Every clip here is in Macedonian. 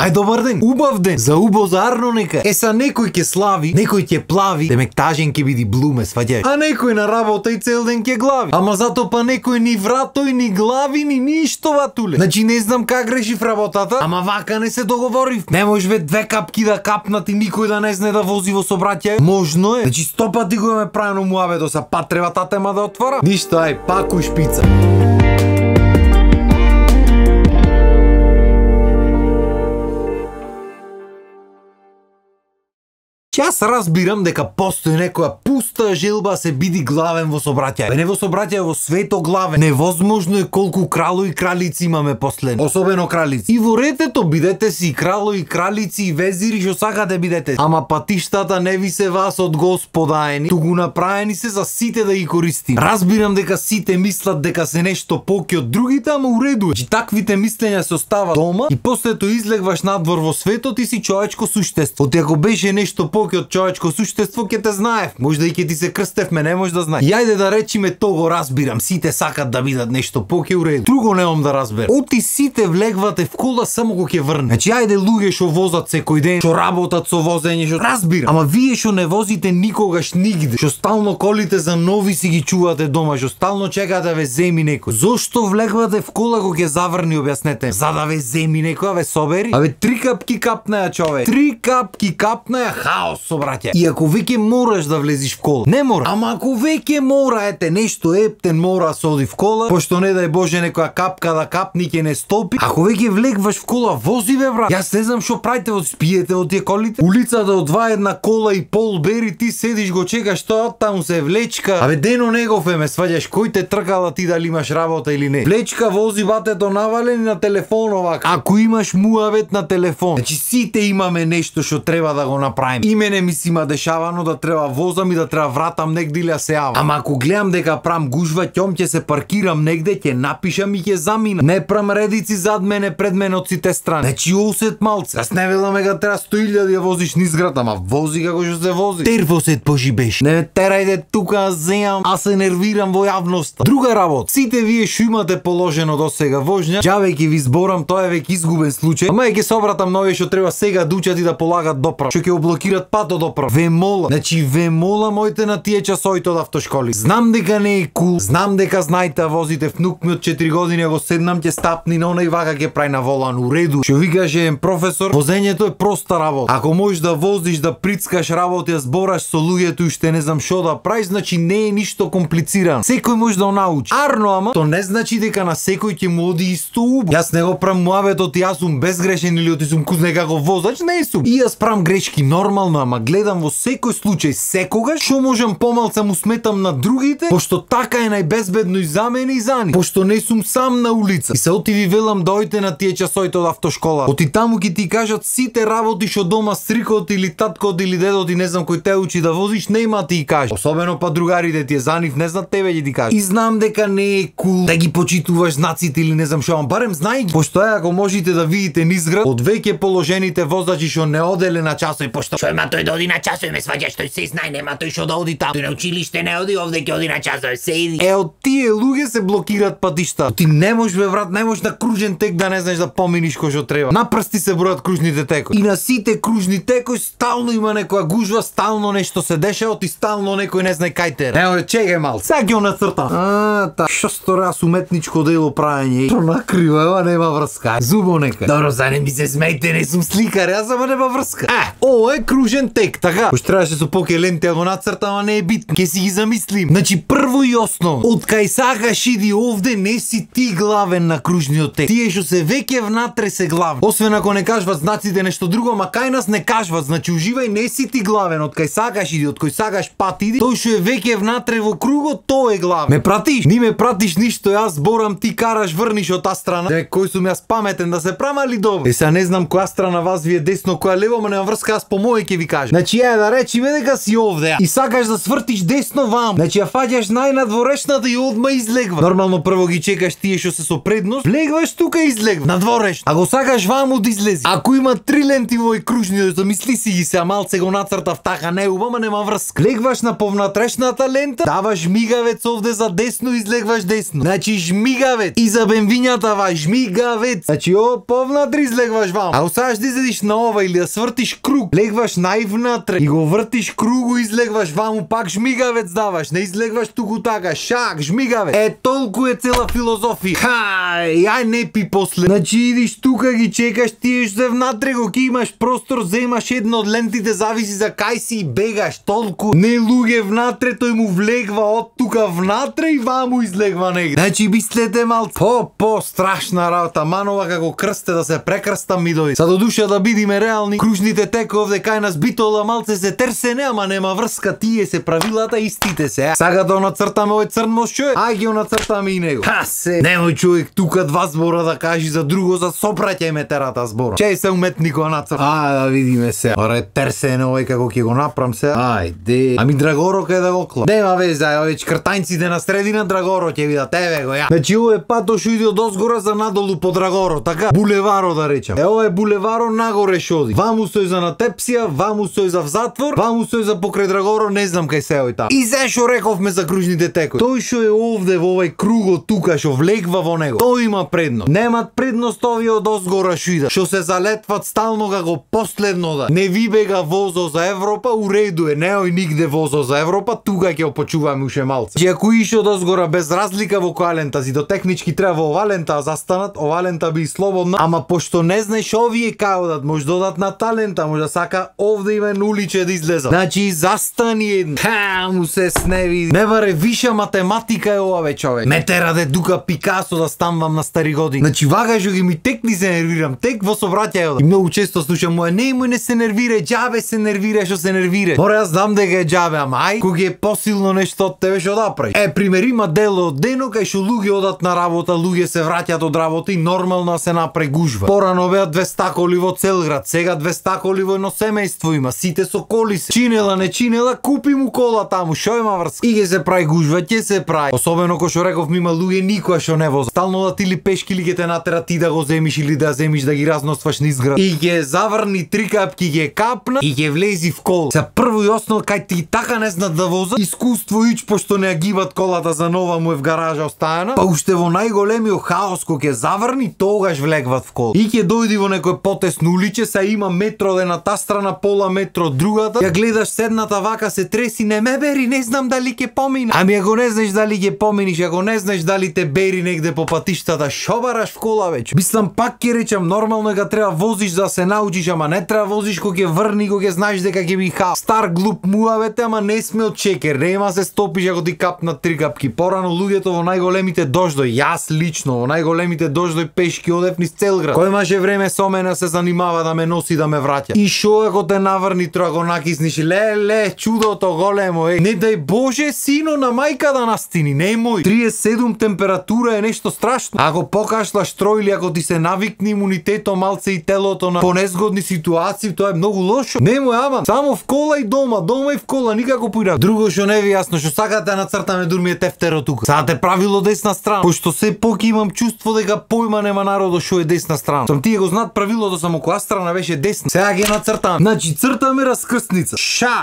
Ај добар ден, убав ден, за убозарно нека. Са некој ќе слави, некој ќе плави, демек тажен ќе биди блуме, сваѓај. А некој на работа и цел ден ќе глави. Ама зато па некој ни вратој, ни глави, ни ништо ватуле. Значи не знам как грешив работата, ама вака не се договорив. Не може бе 2 капки да капнат и никој да не знае да вози во сообраќај. Можно е. Значи 100 пати го ме правено муавето, са пат треба татема да отвора. Ништо, ај, пак у шпица. Јас разбирам дека постои некоја пуста желба се биди главен во сообраќај. Не во сообраќај, во свето главен. Невозможно е колку крало и кралици имаме после. Особено кралици. И во ретето бидете си крало и кралици и везири што сакате бидете. Ама патиштата не ви се вас од Господаени, туку направени се за сите да ги користим. Разбирам дека сите мислат дека се нешто поки од другите, ама уреду е. Че таквите мислења се остава дома и после тоа излегваш надвор во светот и си човечко суштество. Оти ако беше нешто поки од човечко суштество, ќе те знаев. Можда и ќе ти се крстевме, не може да знаеш. И ајде да речиме то го разбирам. Сите сакат да бидат нешто поке уреду. Друго немам да разберам. Оти сите влегвате в кола само кога ќе врне. Значи ајде луѓе што возат секој ден, што работат со возење, што разбирам. Ама вие што не возите никогаш нигде, што стално колите за нови си ги чувате дома, што стално чекате да ве земи некој. Зошто влегвате в кола кога ќе заврни, објаснете? За да ве земи некој, ве собери? Абе 3 капки капнаја, човек. 3 капки капнаја, хаос. Собраќај. И ако веќе мораш да влезиш в кола, не мора. Ама ако веќе мора, ете нешто ептен мора се оди в кола, пошто не дај Боже некоја капка да капни ќе не стопи. Ако веќе влегваш в кола, вози бе брат. Јас не знам што правите, во спиете во тие колите. Улицата од 2-1 кола и пол бери, ти седиш го чекаш тоа, таму се влечка. Абе дено негов ме сваѓаш, кој те тркала ти дали имаш работа или не. Влечка вози батето навалени на телефон овака. Ако имаш муавет на телефон, значи сите имаме нешто што треба да го направиме. Мене ми си има дешавано да треба возам и да треба вратам негде или се јавам. Ама ако гледам дека прам гужва, ќом ќе се паркирам негде, ќе напишам и ќе заминам. Не прам редици зад мене, пред мене од сите страни. Значи осет малце. Јас не велам дека треба 100.000 да возиш низ град, ама вози како што се вози. Тервосет пожибеш. Не терајте тука, земам, а се нервирам во јавноста. Друга работа. Сите вие што имате положено до сега вожња, џаве ќе ви зборам, тоа е веќе изгубен случај. Ама ќе се обратам на овие што треба сега да учат и да полагат доправ. Што ќе облокираат патот доправ. Ве мола. Значи ве мола моите на тие часоите од автошколи. Знам дека не е кул, знам дека знаете возите, внук ми од 4 години го седнам ќе стапни на онај вака ќе прави на волан уреду. Што ви каже професор, возењето е проста работа. Ако можеш да возиш, да прицкаш работи, да збораш со луѓето и што не знам што да правиш, значи не е ништо комплицирано. Секој може да научи. Арно ама, то не значи дека на секој ќе му оди исто убаво. Јас не го правам муавето ти јас сум безгрешен или оти сум кузне како возач, не сум. И јас правам грешки нормално, ама гледам во секој случај секогаш што можам помалце му сметам на другите, пошто така е најбезбедно и за мене и за нив. Пошто не сум сам на улица. И се оти ви велам дојте на тие часоите од автошкола. Оти таму ќе ти кажат сите работи што дома стрикот или таткот или дедот и не знам кој те учи да возиш, нема ти кажа. Особено па другарите тие за нив не знаат, тебе ќе ти кажа. И знам дека не е кул да ги почитуваш знаците или не знам што, барем знај ги. Пошто ако можете да видите низград од веќе положените возачи што не оделе на часови, пошто што има тој да оди на часови, ме сваѓаш, тој се знае, нема тој што да оди таму. Тој на училиште не оди, овде ќе оди на часови, се иди. Од тие луѓе се блокираат патишта. Ти не можеш бе брат, не можеш на кружен тек да не знаеш да поминиш кој што треба. На прсти се бројат кружните текови. И на сите кружни текови стално има некоја гужва, стално нешто се дешава, и стално некој не знае кај тера. Ево, чекај малку. Сега ќе нацртам. Што сторас уметничко дело правење. Што накрива, ева нема врска. Зубо нека. Добро, за не ми се смејте, не сум сликар, јас ама нема врска. Ово е кружен тек, така. Пош требаше со поке ленти да го нацртам, а не е битно. Ке си ги замислим. Значи прво и основно, од кај сакаш иди овде, не си ти главен на кружниот тек. Тие што се веќе внатре се главни. Освен ако не кажуват знаците нешто друго, ама кај нас не кажуват, значи уживај, не си ти главен, од кај сакаш иди, од кој сакаш пат иди. Тој што е веќе внатре во кругот, тој е главен. Ме пратиш? Ни ме пратиш ништо, јас зборам, ти караш, врниш од таа страна. Кој сум јас паметен да се прама ли добро? Сега не знам која страна вас ви е десно, која лево, ама нема врска, јас по мој ќе ви кажам. Значи да речиме дека си овде и сакаш да свртиш десно ваму. Значи ја фаќаш најнадворешната и одма излегва. Нормално прво ги чекаш тие што се со предност, влегваш тука и излегва. Надворешно. Ако сакаш ваму да излези. Ако има 3 ленти во овој кружни, замисли си ги се, малце го нацртав така, не убава, нема врска. Легваш на повнатрешната лента, даваш жмигавец овде за десно, излегваш десно. Значи жмигавец и за бенвињата ва жмигавец. Значи повнатре излегваш ваму. Ако сакаш да излезиш на ова или да свртиш круг, легваш највнатре и го вртиш кругу, излегваш ваму, пак жмигавец даваш, не излегваш туку така, шак, жмигавец. Толку е цела филозофија. Ај не пи после. Значи идиш тука, ги чекаш, тие што се внатре го ки имаш простор, земаш една од лентите, зависи за кај си и бегаш, толку. Не луѓе внатре, тој му влегва од тука внатре и ваму излегва негде. Значи мислете малце. Страшна работа, манова како крсте да се прекрста ми дојде. Са до душа да бидиме реални, кружните теко овде кај нас битола малце се терсене, ама нема врска, тие се правилата истите се. Сага да нацртаме овој црн мост човек, ај ги нацртаме и него. Немој човек тука 2 збора да кажи за друго, за сопраќај ме терата збора. Чеј се уметникот нацрта. Да видиме се. Оре терсене овој како ќе го направам се. Ајде. Ами Драгоро кај да го клам. Нема веза, овој чкртањците на средина Драгоро ќе видат, еве го ја. Значи овој пато што иде од озгора за надолу по Драгоро, така? Булеваро да речам. Овој булеваро нагоре што оди. Ваму стои за на Тепсија, ваму стои за в затвор, ваму стои за покрај Драгоро, не знам кај се овој таму. И зашо рековме за кружните текови. Тој што е овде во овој кругот тука што влегва во него, тој има предност. Немат предност овие од озгора што идат, што се залетват стално како последно да. Не ви бега возо за Европа, уреду е, неој нигде возо за Европа, тука ќе опочуваме уште малце. Че ако ише од озгора без разлика во која лента си, до технички треба во ова лента застанат, ова лента би слободна, ама пошто не знаеш овие кај одат, може да одат на талента, може да сака овде има на уличе да излезат. Значи застани еден. Му се сневи. Не баре виша математика е ова човек. Ме тера де дука Пикасо да станвам на стари години. Значи вага што ги ми текни се нервирам, тек во собраќај. И многу често слушам моја не се нервира, џабе се нервира што се нервира. Мора јас знам дека е џабе, ама ај, кога е посилно нешто од тебе што да прави. Пример има дело од дено кај што луѓе одат на работа, луѓе се враќаат од работа и нормално се направи гужва. Порано беа 200 коли во цел град, сега 200 коли во едно семејство има, сите со коли се. Чинела, не чинела, купи му кола таму, шо има врска. И ќе се прави гужва, ќе се прави. Особено кој што реков има луѓе никоја што не возат. Стално да ти или пешки или ќе те натера ти да го земиш или да земиш да ги разносваш низ град. И ќе заврни 3 капки, ќе капна и ќе влези в кола. За прво и основно кај ти така не знаат да возат, искуство ич пошто не агибат колата за нова му е в гаража оставена, па уште во најголемиот хаос кој ќе заврни, тогаш влегват в кола. И ќе дојди во некој потесно уличе, са има метро од едната страна, пола метро од другата. Ја гледаш седната вака се треси, не ме бери, не знам дали ќе помина. Ами ако не знаеш дали ќе поминиш, ако не знаеш дали те бери негде по патиштата, шо бараш в кола веќе? Мислам пак ќе речам нормално дека треба возиш за да се научиш, ама не треба возиш кога ќе врни, кога ќе знаеш дека ќе би хаос. Стар глуп муавете, ама не сме од чекер, нема се стопиш ако ти капнат 3 капки. Порано луѓето во најголемите дождој, јас лично во најголемите дождој пешки одев низ цел град. Кој имаше време со мене се занимава да ме носи да ме враќа. И шо ако те наврни троа го накисниш, ле, чудото големо, не дај Боже сино на мајка да настини, немој. 37 температура е нешто страшно. Ако покашлаш трој или ако ти се навикни имунитетот малце и телото на понезгодни ситуации, тоа е многу лошо. Немој ама, само в кола и дома и в кола, никако поинаку. Друго што не ви јасно, што сакате да нацртаме дурми е тефтеро тука. Сакате правило десна страна, пошто се поки имам чувство дека појма нема народо што е десна страна. Сам тие го знаат правилото, само која страна беше десна. Сега ги нацртам. Значи цртаме раскрстница. Ша.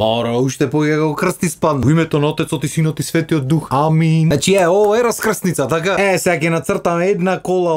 Мора уште поќе го крсти спадна. Во името на Отецот и Синот и Светиот Дух. Амин. Значи ова е раскрстница, така? Сега ќе нацртаме една кола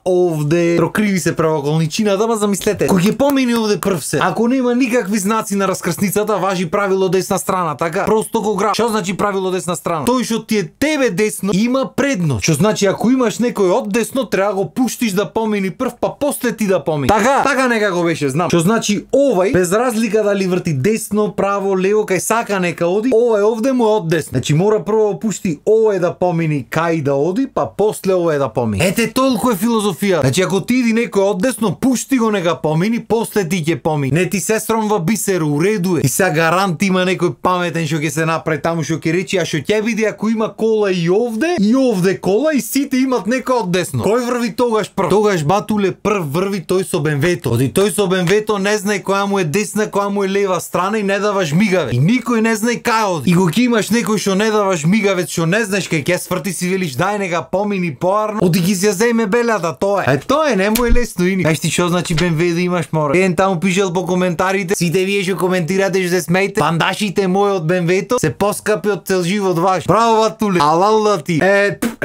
овде. Прокриви се правоаголничината, ама замислете. Кој ќе помине овде прв се? Ако нема никакви знаци на раскрстницата, важи правило десна страна, така? Просто го граб. Што значи правило десна страна? Тој што ти е тебе десно има предност. Што значи ако имаш некој од десно, треба го пуштиш да помини прв, па после ти да помини. Така некако беше, знам. Што значи овај, без разлика дали врти десно, право, лево, кај сака нека оди, овај овде му е од десно. Значи мора прво да пушти овај да помини кај да оди, па после овај да помини. Ете толку е филозофија. Значи ако ти иди некој од десно, пушти го нека помини, после ти ќе помини. Не ти се сромва бисеру, уреду е. И сега гарант има некој паметен што ќе се направи таму што ќе речи, а што ќе биде ако има кола и овде кола и сите имат некој од десно. Кој врви тогаш прв? Тогаш батуле прв врви тој со БМВ-то. Оди тој со БМВ-то не знае која му е десна, која му е лева страна и не дава жмигавец. И никој не знае кај оди. И го ќе имаш некој што не дава жмигавец, што не знаеш кај ќе сврти, си велиш дај нега помини поарно. Оди ги се земе белјата, тоа е. Тоа е, не му е лесно ини. Знаеш ти што значи БМВ да имаш, море? Еден таму пишел по коментарите, сите вие што коментирате што се смејте, пандашите мои од БМВ-то се поскапи од цел живот ваш. Браво, Ватуле. Алалда ти.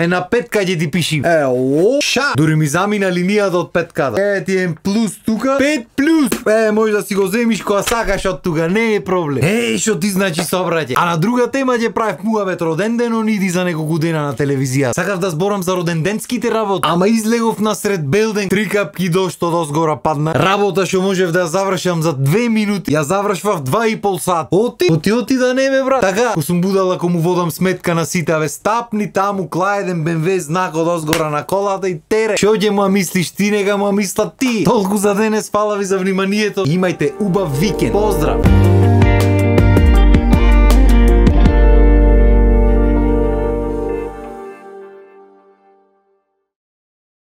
На 5 ќе ти пиши. Ша. Дури ми замина линијата од 5-ката. Ти е плюс тука. 5 плюс. Може да си го земиш која сакаш од тука, не е проблем. Што ти значи собраќе. А на друга тема ќе правев муавет роден ден ониди за неколку дена на телевизија. Сакав да зборам за роденденските работи, ама излегов насред белден, 3 капки дожд од озгора падна. Работа што можев да ја завршам за 2 минути, ја завршвав 2,5 сат. Оти да не ме брат. Така, ко сум будал ако му водам сметка на сите, стапни таму клаеден БМВ знак од озгора на колата и тере. Што ќе му мислиш ти, нега му мислат ти. Толку за денес, фала ви за вниманието. Имајте убав викенд. Поздрав.